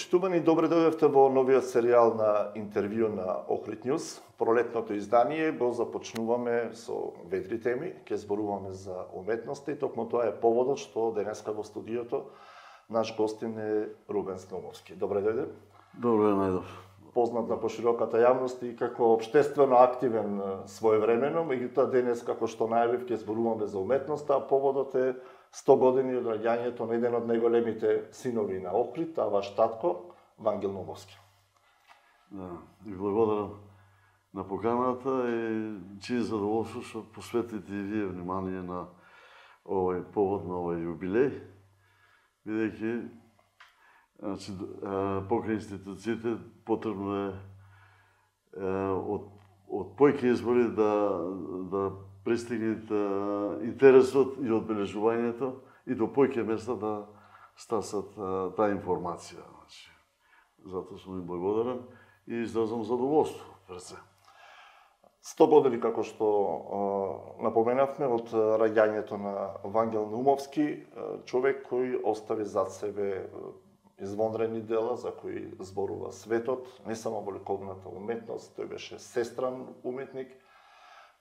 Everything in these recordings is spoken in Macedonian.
Почитувани, добре дојдовте во новиот серијал на интервју на Охрид Нјуз. Пролетното издание го започнуваме со ведри теми, ќе зборуваме за уметноста и токму тоа е поводот што денеска во студиото наш гостин е Рубен Наумовски. Добре дојде. Добре најдов. Познат на пошироката јавност и како општествено активен своевремено, меѓутоа денес како што најавив ќе зборуваме за уметноста, а поводот е 100 години од раѓањето на еден од најголемите синови на Охрид, а ваш татко, Вангел Наумовски. Да, и благодарам на поканата и чие задоволство што посветите и вие внимание на овој повод, на овој юбилеј, бидејќи покрај институциите потребно е од појки избори да пристигнат интересот и одбележувањето и до појке места да стасат таа информација. Затоа сум им благодарен и изразам задоволство пред се. 100 години, како што напоменавме, од раѓањето на Вангел Наумовски, човек кој остави зад себе извонредни дела за кои зборува светот, не само во ликовната уметност, тој беше сестран уметник,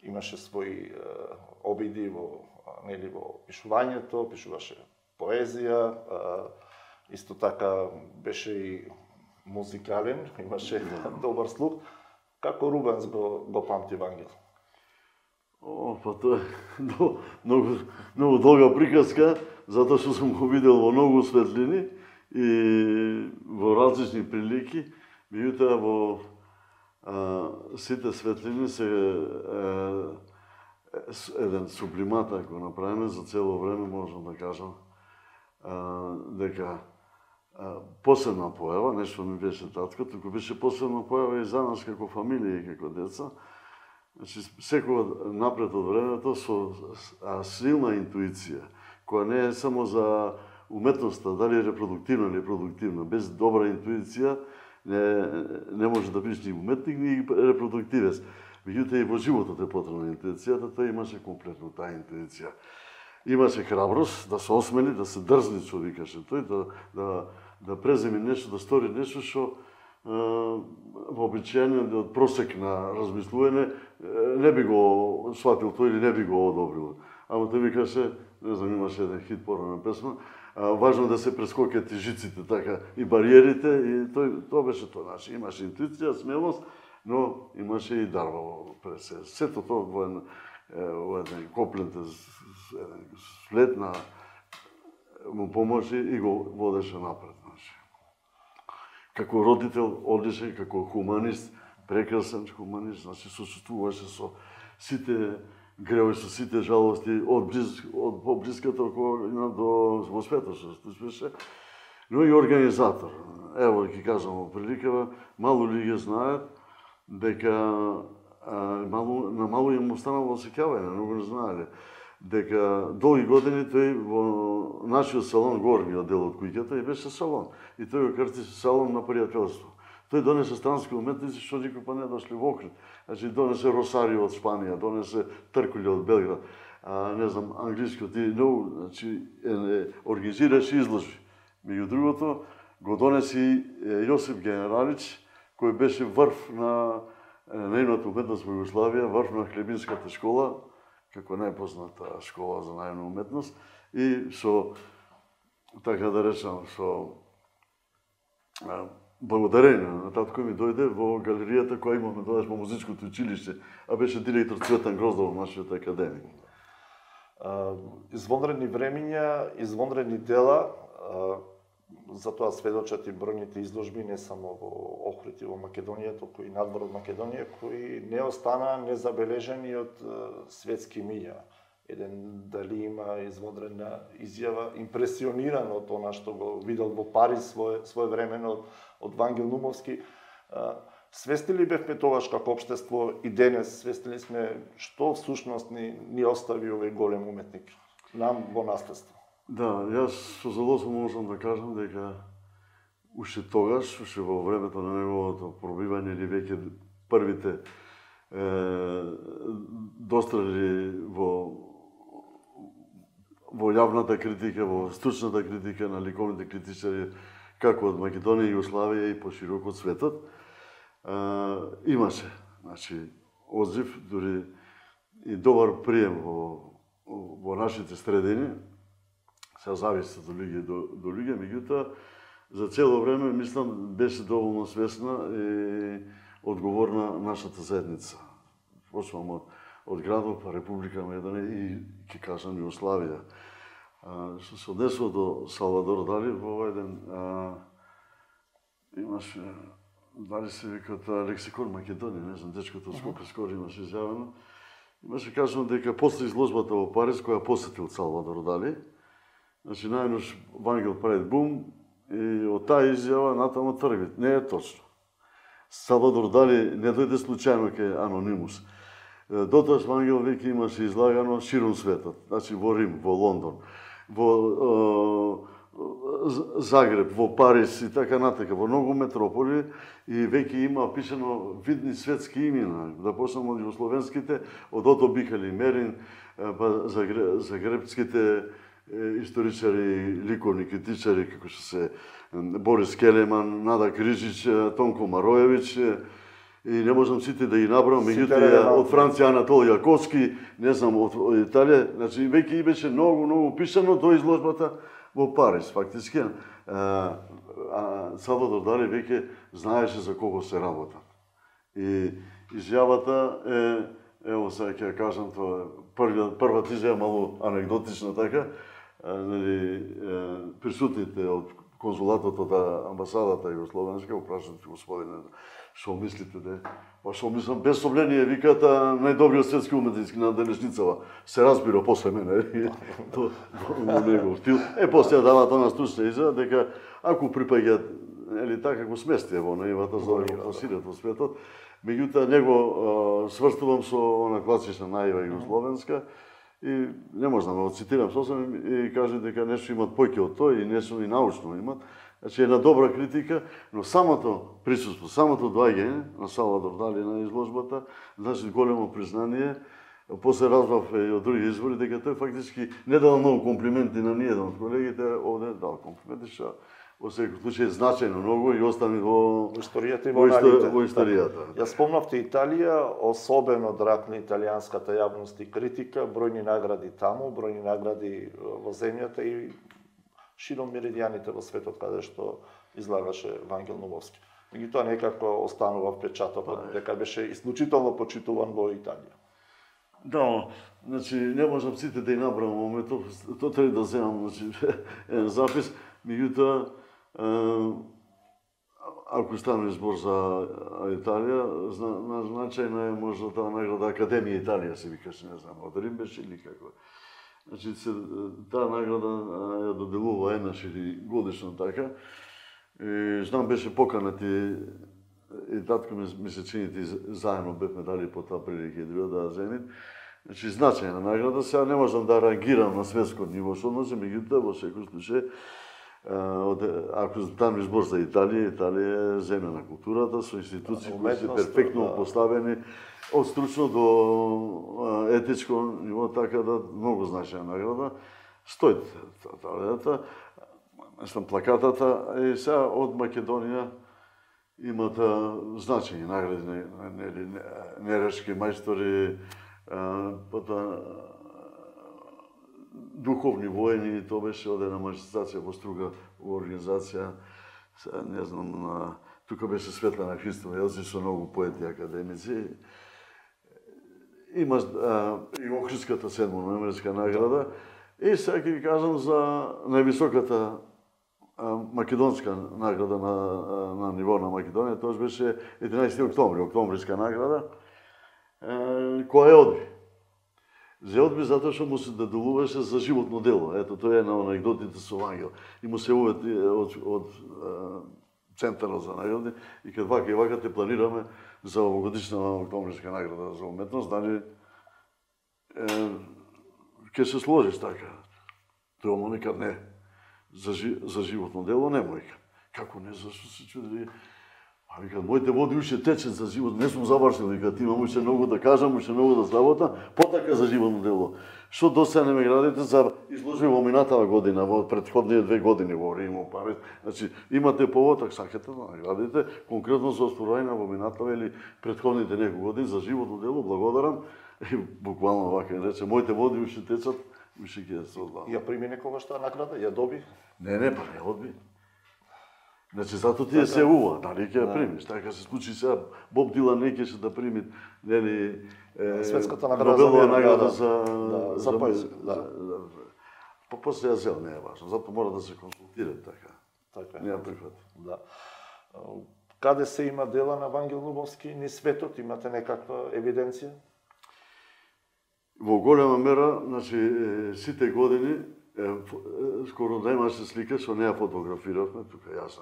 имаше своји обиди во пишувањето, пишуваше поезија, исто така беше и музикален, имаше добар слух. Како Рубенс го памти Вангел? Па тоа е многу долга приказка, затоа што сум го видел во многу светлини и во различни прилики, меѓутоа во сите светлини се еден сублимат, ако направиме за цело време, можам да кажам дека посебна појава, нешто не беше татко, туку беше посебна појава и за нас како фамилија и како деца. Значи, секогаш напред од времето со силна интуиција, која не е само за уметноста, дали е репродуктивна или продуктивна. Без добра интуиција не може да бидеш ни уметник, ни репродуктивец. Меѓутоа и во животот е потребна интуицијата, тој имаше комплетно таа интуиција. Имаше храброст да се осмели, да се дрзни, што викаше тој, да преземи нешто, да стори нешто што вообичаено од просек на размислување не би го сватил тој или не би го одобрил. Ама тој викаше, не знам, имаше еден хит порана песма, важно да се прескокат и жиците, така, и бариерите, и тоа беше тоа. Значи, имаше интуиција, смелост, но имаше и дарба пред се. Сето тоа во еден коплент, еден след на му помоши и го водеше напред. Како родител одличен, како хуманист, прекрасен хуманист, значи сочувствуваше со сите греови, со сите жалости од поблиската околина до во светот што беше, но и организатор. Ево ќе кажам во приликава, мало луѓе знаат дека на мало им останало осеќавање, многу не знаеле дека долги години тој во нашиот салон, горниот дел од куќата, и беше салон. И тој го крсти салон на пријателство. Тој донесе странски уметници што никој па не дошли во Охрид. Значи донесе Росарио од Шпанија, донесе Тркули од Белград, не знам, англискиот и значи организираше изложби. Меѓу другото го донеси Јосип Генералич, кој беше врв на најновата уметност во Југославија, врв на Хлебинската школа, како најпозната школа за најновна уметност, и со, така да речам, со благодарение на татко ми дојде во галеријата која имаме тогаш во музичкото училиште, а беше директор Цветан Гроздов во нашиот академик. Извонредни времиња, извонредни дела, затоа сведочат и бројните изложби не само во Охрид и во Македонија, туку и надвор од Македонија, кои не останаа незабележени од светски миѓа. Еден дали има извонредна изјава, импресиониран од она што го видел во Париз своевремено од Вангел Наумовски. Свесни ли бевме тогаш како општество и денес свесни сме што всушност ни остави овој голем уметник нам во наследство? Да, јас со задоволство можам да кажам дека уште тогаш, уште во времето на неговото пробивање или веќе првите дострели во јавната критика, во стручната критика на ликовните критичари, како од Македонија и Југославија и пошироко од светот. Имаше, значи, одзив, дури и добар прием во нашите средини, се зависи до луѓе, меѓутоа, за цело време, мислам, беше доволно свесна и одговорна нашата заедница. Почнувам од градот, па Република Македонија и, ќе кажам, Југославија. Што се однесува до Салвадор Дали, во овој ден имаше, дали се викат лексикон Македонија, не знам, дечкото од Скопје скоро имаше изјавено. Имаше кажано дека после изложбата во Париз, која посетил Салвадор Дали, значи најнош Вангел прави бум и од таа изјава натаму тргви. Не е точно. Салвадор Дали не дојде случајно кај Анонимус. Дотоаш Вангел веќе имаше излагано широм светот, значи во Рим, во Лондон, во Загреб, во Париз и така натака, во многу метрополи и веќе има пишано видни светски имена, да почнем од југословенските, од Ото Бихали Мерин, па загребските историчари, ликовни критичари, како што се Борис Келеман, Нада Крижич, Тонко Мароевич, и не можам сите да ги набрам, меѓутоа од Франција Анатол Јаковски, не знам, од Италија, значи веќе беше многу пишано до изложбата во Париз, фактички. Салвадор Дали веќе знаеше за кого се работа. И изјавата е, ево сега ќе кажам, тоа првата изјава малку анегдотична така, присутните од конзулатот од амбасадата југословенска опрашуват господине што мислите де? Па што мислам, без сомнение, викаат најдобриот светски уметник на денешницава. Се разбира после мене, во негов стил. После дава тоа стучна изјава дека ако припаѓаат, или така го сместија во наивата за да го пласират во светот, меѓутоа него сврстувам со она класична наива југословенска и не можам да го цитирам сосем и кажа дека нешто имат поќе од тоа и нешто и научно имат. Значи една добра критика, но самото присуство, самото доаѓање на Салвадор Дали на изложбата, значи големо признание. После разбрав и од други извори дека тој фактички не дал многу комплименти на ниеден од колегите, овде дал комплименти што во секој случај значајно многу и остани во историјата и во аналите. Во историјата. Ја спомнавте Италија, особено драг на италијанската јавност и критика, бројни награди таму, бројни награди во земјата и широм меридијаните во светот каде што излагаше Вангел Нумовски. Меѓутоа некако останува впечатокот дека беше исклучително почитуван во Италија. Да, значи не можам сите да ја набрам во моментот, тоа треба да земам, значи еден запис, меѓутоа ако стане збор за Италија, значајна е можда таа награда Академија Италија се викаше, не знам, од Рим беше или како. Значи, таа награда ја доделува еднаш или годишно така. И знам беше поканати и татко ми се чините заедно бевме дали по таа прилика да земит. Значи, значајна награда. Сега не можам да реагирам на светско ниво што односи, меѓутоа во секој случај ако там избор за Италија, Италија е земја на културата со институции кои се перфектно поставени од стручно до етичко ниво, така да многу значајна награда. Стои талента, мислам плакатата и сега од Македонија имат значајни награди, нерешки мајстори, духовни воени, тоа беше од една манифестација во Струга, во организација, не знам, тука беше Светлана Христова Елзи со многу поети академици. Има и Охридската 7-ноемврска награда. И сега ќе ви кажам за највисоката македонска награда на ниво на Македонија, тоа беше 11 октомври, октомвриска награда, која е одби. За одби затоа што му се доделуваше за животно дело. Ето, тоа е на анегдотите со Вангел. И му се увети од Центарот за награди и кај вака и вака те планираме за овогодишна октомвриска награда за уметност, дали ќе се сложиш така. Тоа му нека не. За животно дело не му вика. Како не, зашто се чуди? Вика, моите води уште течат за живот, не сум завршил, вика, ти имам уште многу да кажам, уште многу да сработам, потака за животно дело. Што досега не ме градите за изложби во минатава година, во претходните 2 години во Рим, Париз. Значи, имате повод, ако сакате да наградите, конкретно за остварување во минатава или претходните неколку години за животно дело, благодарам. И буквално вака рече, моите води уште течат, уште ќе се одбавам. Ја прими некогаш таа награда, ја доби? Не, па не одби. Значи, зато ти се ува, дали ќе ја примиш. Така се случи сега, Боб Дилан не ќе да прими, нели, светската награда Нобелова награда за поезија. Па после ја зел, не е важно, зато мора да се консултира така. Така Не ја прифати. Да. Каде се има дела на Вангел Нумовски низ светот, имате некаква евиденција? Во голема мера, значи, сите години, скоро да имаше слика, што не ја фотографиравме, тука јас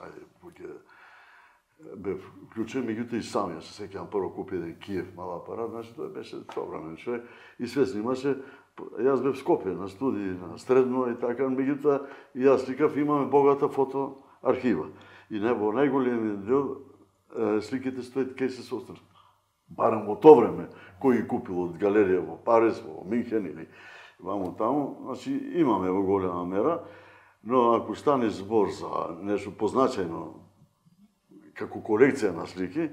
бев вклучен, меѓутоа и сам ја се сеќавам прво купи еден Киев мал апарат, значи тој беше современ човек и све снимаше. Јас бев в Скопје на студии, на средно и така, меѓутоа и јас сликав, имаме богата фото архива. И во најголемиот дел сликите стоят кај се состар. Барем во тоа време, кој ги купил од галерија во Париз, во Минхен или вамо таму, значи имаме во голема мера, но ако стане збор за нешто позначајно како колекција на слики,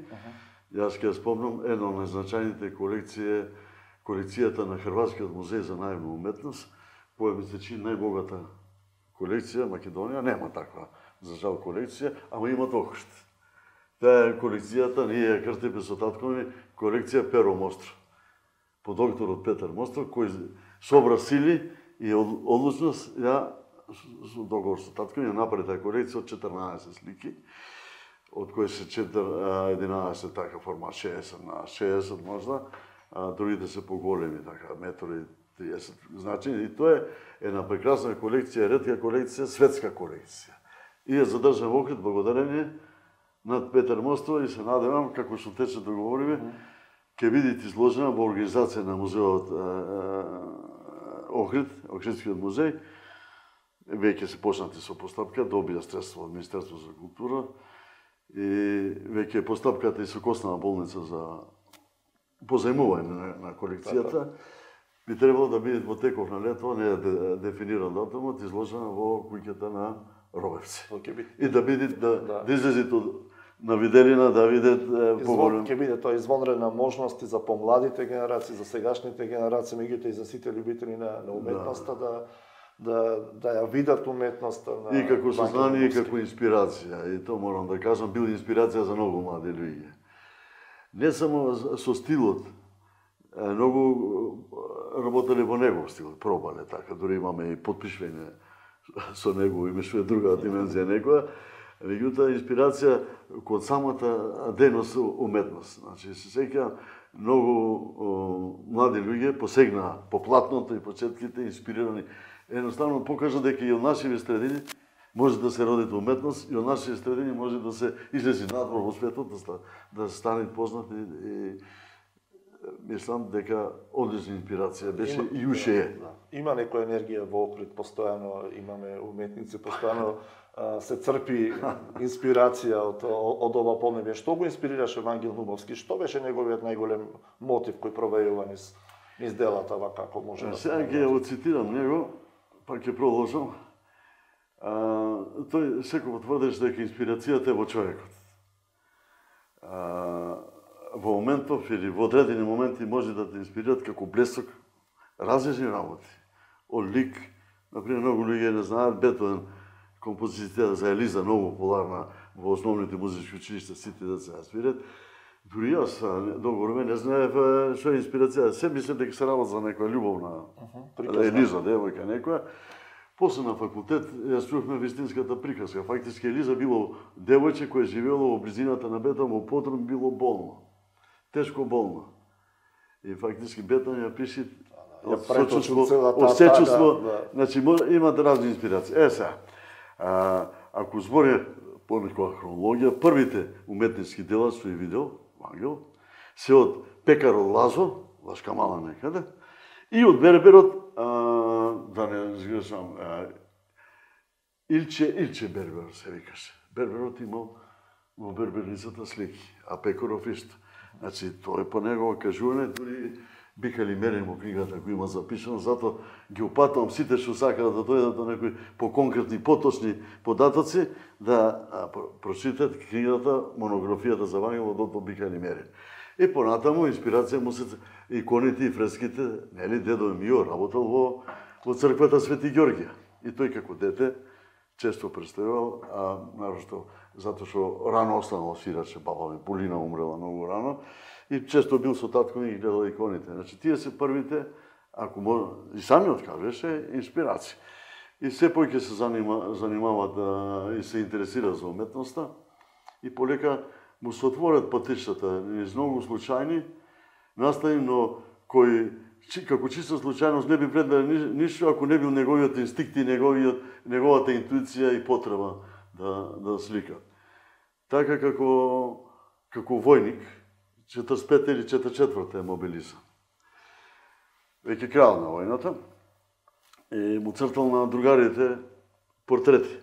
јас ќе спомнам една од најзначајните колекцијата на Хрватскиот музеј за наивна уметност, која ми се чини најбогата колекција, Македонија нема таква, за жал, колекција, ама има докушт. Таа е колекцијата, ние ја крстиме со татко ми, колекција Перо Мостро. По докторот Петар Мостро, кој собра сили и одлучност, ја со договор со татко ми ја направи таа колекција од 14 слики, од кои се 11 така формат 60 на 60 можда, а другите се поголеми, така, метри 30. Значи, и тоа е една прекрасна колекција, ретка колекција, светска колекција. И ја задржам во Охрид благодарение над Петар Мостро и се надевам, како што тече договориме, ќе бидете изложена во организација на музеот Охрид, Охридскиот музеј. Веќе се почнати со постапка, добија средства од Министерство за култура и веќе е постапката и со Коснава болница за позајмување на колекцијата. Би требало да биде во теков на лето, не е дефиниран датумот, изложена во куќата на Робевци. И да биде да излезите на виделина, да видат поголем. Ќе биде тоа извонредна можност и за помладите генерации, за сегашните генерации, меѓутоа и за сите љубители на уметноста да ја видат уметноста на и како сознание и како инспирација. И тоа морам да кажам, бил инспирација за многу млади луѓе. Не само со стилот, многу работеле во негов стил, пробале така, дури имаме и подпишување со него, имаше друга димензија некоја, меѓутоа инспирација код самата дејност уметност. Значи се сеќавам многу млади луѓе посегнаа по платното и по четките инспирирани. Едноставно покажа дека и од нашите средини може да се роди уметност и од нашите средини може да се излези надвор во светот, да стане познат и мислам дека одлична инспирација беше и уште е. Има некоја енергија во Охрид, постојано имаме уметници, постојано се црпи инспирација од ова поднебје. Што го инспирираше Вангел Нумовски? Што беше неговиот најголем мотив кој провејува низ делата вака, како може да се... Сега ќе ја цитирам него, па ќе продолжам. Тој секој тврдеше дека инспирацијата е во човекот. Во моментов или во одредени моменти може да те инспирират како блесок различни работи. Од лик, например, многу луѓе не знаат Бетовен, композицијата за Елиза, многу популарна во основните музички училишта, сите деца ја свират. Дури јас долго време не знаев што е инспирација. Се мислев дека се работи за некоја љубовна Елиза, девојка некоја. После на факултет ја чувме вистинската приказка. Фактички Елиза било девојче кој живеело во близината на Бетовен, во Потрон, било болно. Тешко болно. И фактички Бетовен ја пише осечувство, значи имат разни инспирации. Сега, ако зборе по некоја хронологија, првите уметнички дела што ја видел Вангел се од Пекарот Лазо, Лашка мала некаде, и од Берберот, да не сгрешам, Илче Бербер се викаше. Берберот имал во берберницата слики, а Пекоров исто. Значи, тоа е по негово кажување, дури Бихали Мерин во книгата кој има запишано, затоа ги опатувам сите што сакаат да дојдат до некои поконкретни, поточни податоци, да прочитат книгата, монографијата за Вангел од доктор Бихали Мерин. И понатаму инспирација му се иконите и фреските, нели, дедо Мио работел во црквата Свети Ѓорѓија. И тој како дете често представувал, а нарошто затоа што рано останал свираче, баба ми Полина умрела многу рано, и често бил со татко ми и гледал иконите. Значи, тие се првите, ако може, и самиот кажеше, инспирации. И се повеќе се занимават и се интересира за уметноста, и полека му се отворат патиштата, низ многу случајни настани, но кој како чиста случајност не би предвидел ништо ако не бил неговиот инстинкт и неговата интуиција и потреба да слика. Така како војник, 45 или 44 е мобилизан. Веќе крај на војната, и му цртал на другарите портрети.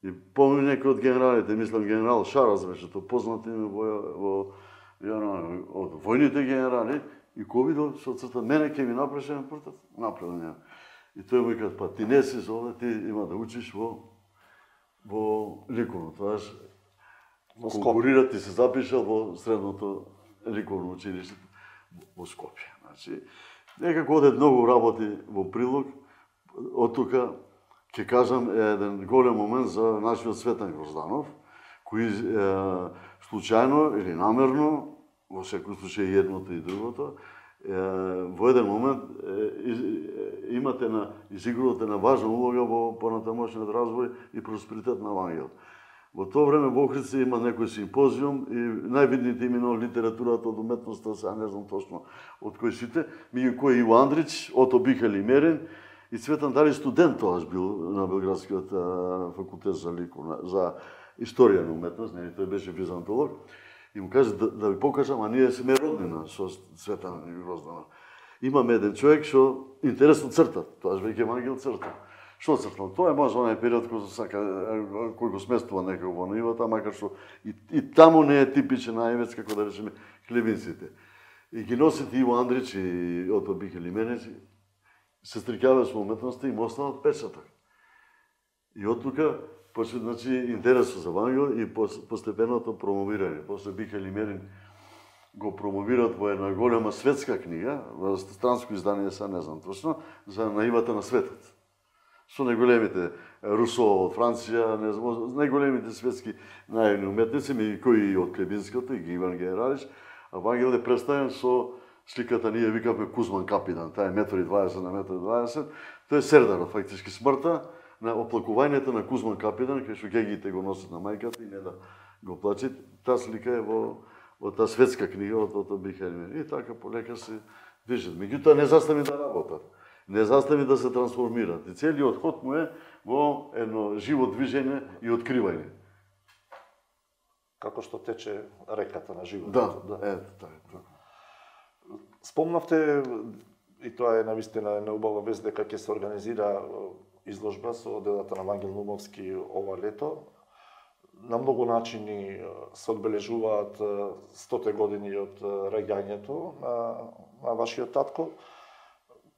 И помни некој од генералите, мислам генерал Шарас беше, тоа познат име од војните генерали, и кој видел што црта, мене ќе ми направиш еден портрет, направил нема. И тој му вика, па ти не си за овде, ти има да учиш во ликовно. Тоаш конкурира, ти се запишал во средното ликовно училиште во Скопје. Значи, некако одат многу работи во прилог. Од тука ќе кажам еден голем момент за нашиот Цветан Грозданов, кој случајно или намерно, во секој случај едното и другото, во еден момент изигрувате на важна улога во понатамошниот развој и просперитет на Вангел. Во тоа време во Охридске има некој симпозиум и највидните имена од литературата, од уметноста, сега не знам точно од кои сите, меѓу кои Иво Андрич, Ото Бихали Мерин и Цветан Дали студент тоаш бил на Белградскиот факултет за историја на уметност, не, тој беше византолог. И му каже да ви покажам, а ние сме роднина со Цветан Грозданов. Имаме еден човек што интересно црта, тоаш веќе Вангел црта. Што цртал? Тоа е може онај период кој го сместува некако во нивата, макар што и таму не е типичен највец, како да речеме, хлебинците. И ги носите Иво Андрич и Ото Бихали Мерин, се стрикаваа со уметноста и му останат печаток. И од тука почне, значи, интересот за Вангел и постепеното промовирање. После Бихали Мерин го промовираат во една голема светска книга, во странско издание, са не знам точно, за наивата на светот. Со најголемите Русо од Франција, најголемите светски наивни уметници, кои од Клебинската и Иван Генералич, а Вангел е представен со сликата ние викаме Кузман Капидан, таа е 1,20 на 1,20 м. Тоа е Сердарот, фактички смртта на оплакувањето на Кузман Капидан, кај што гегите го носат на мајката и не да го плачат. Таа слика е во таа светска книга од Ото Бихали Мерин. И така полека се движат. Меѓутоа не застави да работат. Не застави да се трансформираат. И целиот ход му е во едно живо движење и откривање. Како што тече реката на животот. Да, така. Спомнавте, и тоа е навистина една убава вест, дека ќе се организира изложба со делата на Вангел Наумовски ова лето. На многу начини се одбележуваат 100 години од раѓањето на вашиот татко.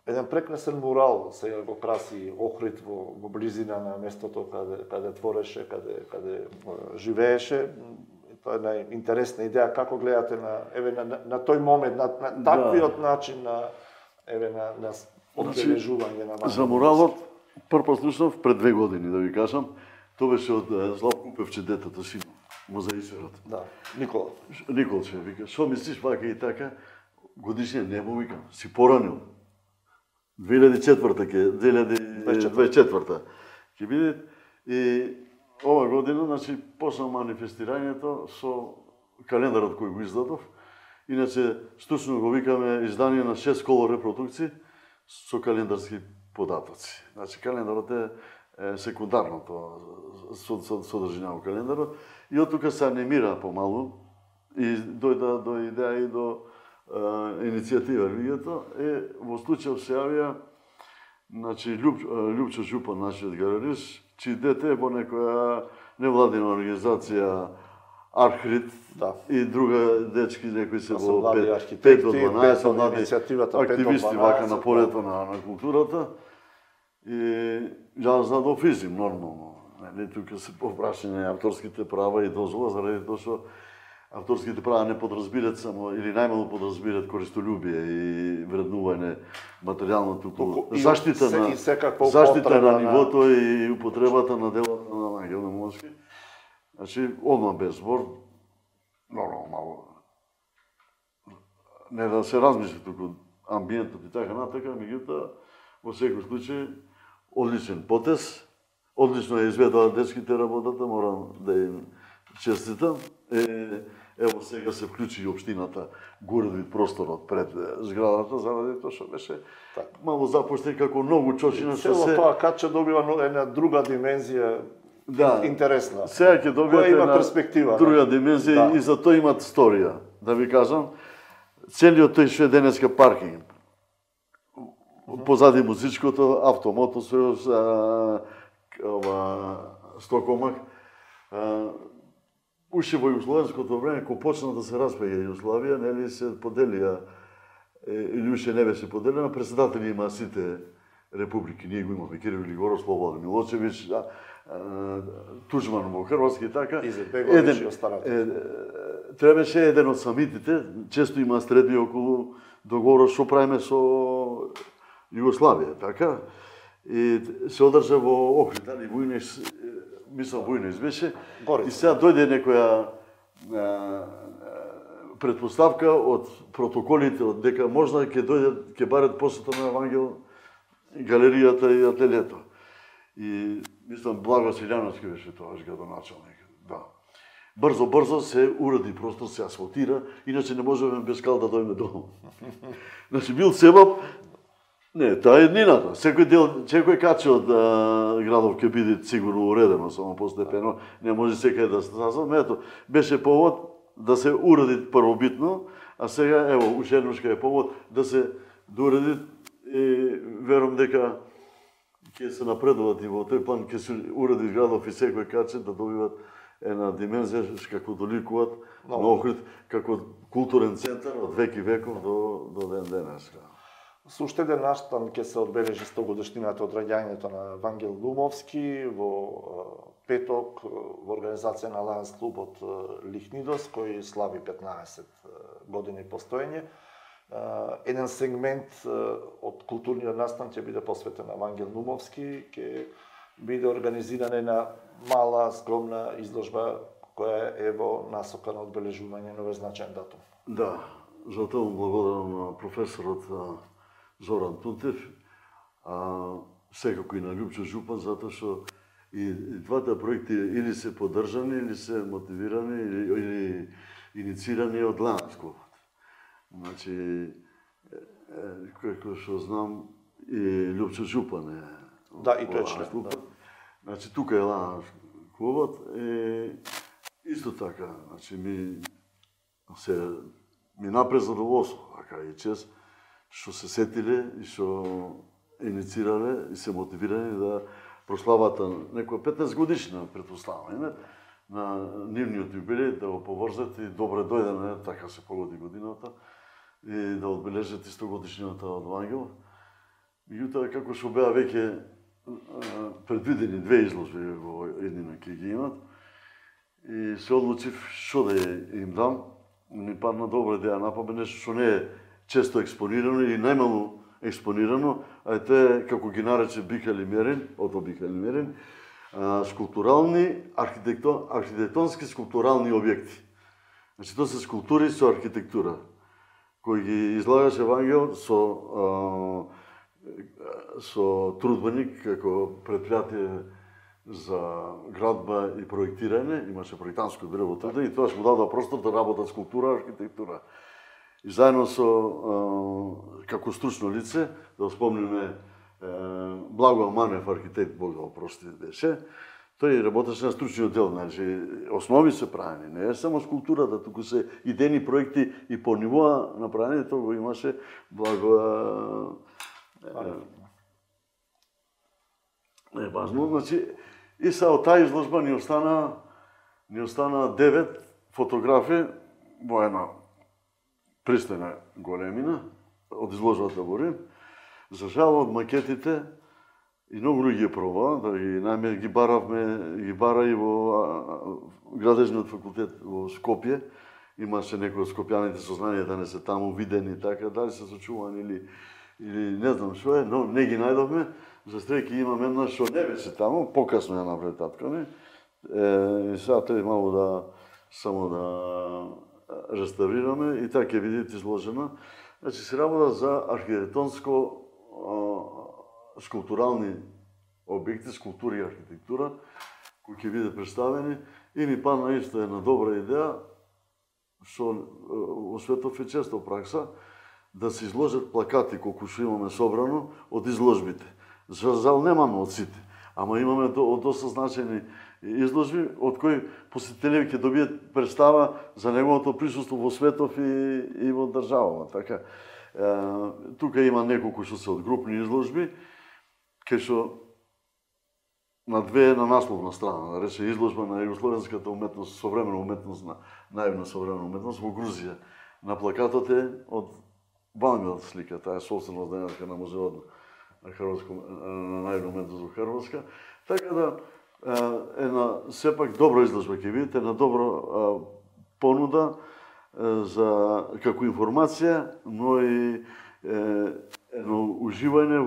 Еден прекрасен мурал сега го краси Охрид во близина на местото каде твореше, каде живееше. Тоа е најинтересна идеја како гледате на тој момент, на таквиот начин на одбележување на за муралот прв слушнав пред 2 години, да ви кажам. Тоа беше од Славко Певче, детето си, музеисерот. Да, Никола. Николче, вика, што мислиш вака и така, годишниот не му викам, си поранил. 2024 ќе биде. И ова година, значи, почна манифестирањето со календарот кој го издадов. Иначе, стучно го викаме издание на 6 колор репродукции со календарски податоци. Значи, календарот е секундарното содржина во календарот. И од тука се анимира помалу и дојда до идеја и до иницијатива луѓето. Во случај се јавија, значи, Љупчо Жупан, нашиот галерист, чии дете во некоја невладина организација Архрит Да. и друга дечки некои се Се во млади 5 архитекти, до 12 млади иницијативата 5 до 12, активисти вака на полето на културата. И јас задов изим нормално. Нели тука се попрашање авторските права и дозвола заради тоа што авторските права не подразбират само или најмалку подразбират користолюбие и вреднување материјално туку заштита на нивото и употребата на делото на Ангел Наумовски. Значи, одма без збор, нормално мало. Не да се размисли туку амбиентот и така натака, меѓутоа, во секој случај, одличен потез, одлично е изведува детските работата, морам да им честитам. Ево сега се вклучи и општината Гурдвит просторот пред зградата, заради тоа што беше мало запушти како многу чочина што се... Цело тоа каче добива една друга димензија, интересна. Сега ќе добијате има перспектива, друга димензија и за тоа имат сторија. Да ви кажам, целиот тој што е денеска паркинг, позади музичкото, автомотосојуз, Стокомак, уште во југословенското време, кога почна да се распаѓа Југославија, нели се поделија, или уште не беше поделена, председатели има сите републики. Ние го имаме Кирил Григоров, Слободан Милошевиќ, Туџман во Хрватски, така. Изетбеговиќ и останати. Требаше еден од самитите, често има средби околу договорот што правиме со Југославија, така. И се одржа во Охрид, дали Војнеш, мислам Војнеш беше, и сега дојде некоја предпоставка од протоколите, од дека можда ќе дојдат, ќе барат посета на Евангел галеријата и ателието. И мислам Благо Силјановски беше тоаш градоначалник. Да. Брзо се уреди простор, се асфалтира, иначе не можеме без кал да дојме долу. Значи бил себап. Не, таа е еднината. Секој каче од градов ќе биде сигурно уредено, само постепено, не може секај да се сазва. Ето, беше повод да се уреди првобитно, а сега, ево, уште еднушка е повод да се дореди и верувам дека ќе се напредуват и во тој план ќе се уреди градов и секој каче да добиват една димензија како доликуваат на Охрид како културен центар од веки веков до ден денеска. Со уште еден настан ќе се одбележи 100 годишнината од раѓањето на Вангел Наумовски во петок во организација на Лајонс клубот Лихнидос, кој слави 15 години постоење. Еден сегмент од културниот настан ќе биде посветен на Вангел Наумовски, ќе биде организирана една мала, скромна изложба која е во насока на одбележување на овој значаен датум. Да, за тоа благодарам на професорот Зоран Тунтев, секако и на Љупчо Жупан, затоа што и двата проекти или се поддржани, или се мотивирани, или инициирани од Лајонс клубот. Значи, како што знам, и Љупчо Жупан е да, и тој член. Значи, тука е Лајонс клубот и исто така, значи, ми напред задоволство, така и чест, што се сетиле и што инициирале и се мотивирани да прославата некоја 15 годишна предпоставање на нивниот јубилеј, да го поврзат и добре дојдене, така се погоди годината, и да одбележат 100 годишнината од Вангел. Меѓутоа, како што беа веќе предвидени две изложби во еднина ќе ги имат, и се одлучив што да им дам. Ми падна добра идеја на памет, нешто што не е често експонирано или најмалку експонирано, а тоа е, како ги нарече Бикали Мерин, скулптурални, архитектонски скулптурални објекти. Значи, тоа се скулптури со архитектура, кои ги излагаше Вангел со трудбеник, како предпријатие за градба и проектирање, имаше проектантско бюро во и тоа му дадоа простор да работат скулптура, архитектура. И заедно со, како стручно лице, да спомниме Благо Манев, архитект, Бог да опрости беше, тој работеше на стручниот дел, значи основи се правени, не е само скулптурата, туку се идејни проекти и по нивоа направени, тоа го имаше Благо не важно, значи и са од таа изложба ни остана 9 фотографи во една пристојна големина од изложбата во Рим. За жал од макетите и многу луѓе пробаа, да ги бара и во градежниот факултет во Скопје. Имаше некои од скопјаните сознание да не се таму видени така, дали се сочувани или не знам што е, но не ги најдовме. За среќа имаме една што не беше таму, покасно ја направи татко ми. И сега треба малку само да реставрираме и така ќе видите изложена. Значи се работа за архитектонско скулптурални објекти, скулптури и архитектура кои ќе биде представени и ми падна исто една добра идеја што во светот е често пракса да се изложат плакати колку што имаме собрано од изложбите. За жал немаме од сите, ама имаме од доста значени изложби од кои посетителите ќе добијат представа за неговото присуство во светов и во државава. Така, тука има неколку што се од групни изложби, кај што на насловна страна, да рече изложба на југословенската уметност, современа уметност, на наивна современа уметност во Грузија. На плакатот е од Вангел слика, таа е собственост денеска на музеот на наивна уметност во Хрватска. Така да, една сепак добра изложба ќе видите, една добра понуда за како информација, но и едно уживање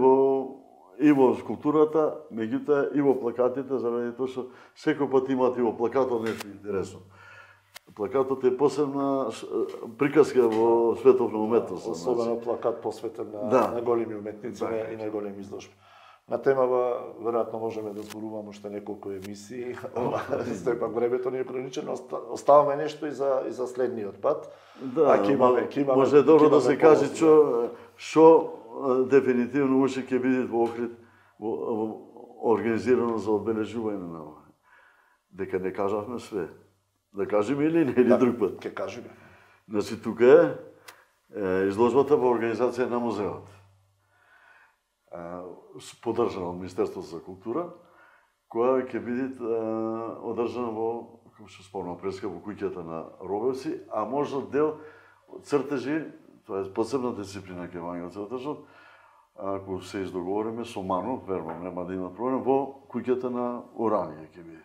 и во скулптурата, меѓутоа и во плакатите, заради тоа што секој пат имате и во плакатот нешто интересно. Плакатот е посебна приказка во светот на уметноста. Особено плакат посветен на големи уметници и на големи изложби. На темава, веројатно можеме да зборуваме уште неколку емисии, исто пак времето ни е ограничено, оставаме нешто и за следниот пат. Да, може добро да се каже што дефинитивно уште ќе биде во Охрид организирано за одбележување на ова. Дека не кажавме све. Да кажеме или не, или друг пат? Ќе кажеме. Значи, тука е изложбата во организација на музеот. Поддржана од Министерството за култура, која ќе биде одржана во, како што спомнам преска, во куќата на Робевци, а може дел цртежи, тоа е посебна дисциплина ке Вангел цртежот, ако се издоговориме со Мано, верувам, нема да има проблем, во куќата на Оранија ќе биде.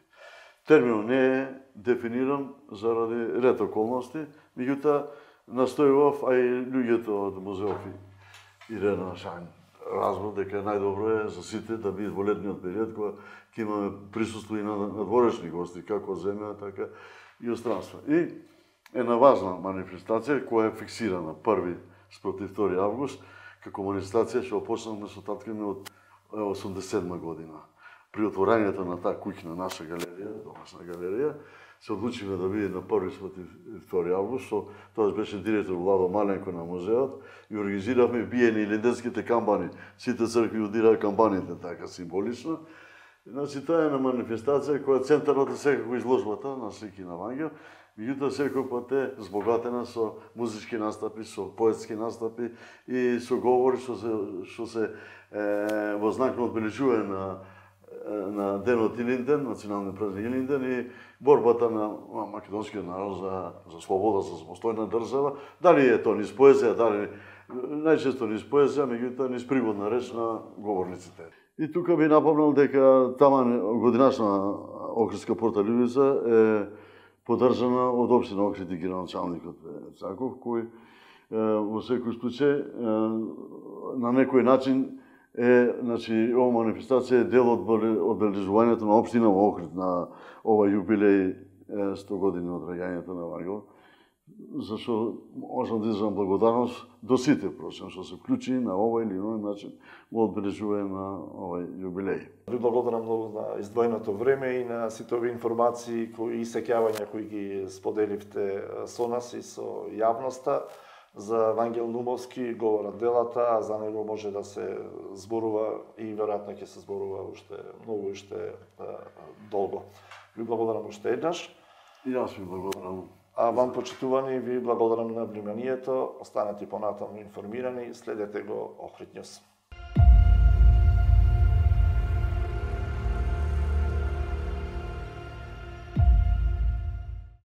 Терминот не е дефиниран заради ред околности, меѓутоа настојував, а и луѓето од музеот Ирена Шајн разбор дека најдобро е за сите да бидат во летниот период кога ќе имаме присуство и на надворешни гости, како земја, така и од странство. И една важна манифестација која е фиксирана 1 спротив 2 август, како манифестација што почнавме со татко ми од 87 година. При отворањето на таа куќна наша галерија, домашна галерија, се одлучивме да биде на 1 спротив 2 август, со тоа беше директор Владо Маленко на музеот и организиравме биење илинденските камбани. Сите цркви удираа камбаните така символично. Значи тоа е една манифестација која центарот е секако изложбата на слики на Вангел, меѓутоа секој пат е збогатена со музички настапи, со поетски настапи и со говори што се во знак на одбележување на денот Илинден, националниот празник Илинден и борбата на македонскиот народ за слобода, за самостојна држава, дали е тоа низ поезија, дали најчесто низ поезија, меѓутоа низ приводна реч на говорниците. И тука би напомнал дека таман годинашна Охридска порталјувица е поддржана од општина Охрид и градоначалникот Цаков, кој во секој случај на некој начин значи, ова манифестација е дел од одбележувањето на општина во Охрид на овој јубилеј 100 години од раѓањето на Вангел, зашто можам да изразам благодарност до сите, прочем, што се вклучи на овој или иној начин во одбележување на овој јубилеј. Ви благодарам многу на издвоеното време и на сите овие информации и сеќавања кои ги споделивте со нас и со јавноста. За Вангел Нумовски говорат делата, а за него може да се зборува и веројатно ќе се зборува уште многу уште долго. Ви благодарам уште еднаш. И јас ви благодарам. А вам, почитувани, ви благодарам на вниманието. Останете понатаму информирани, следете го Охрид Нјус.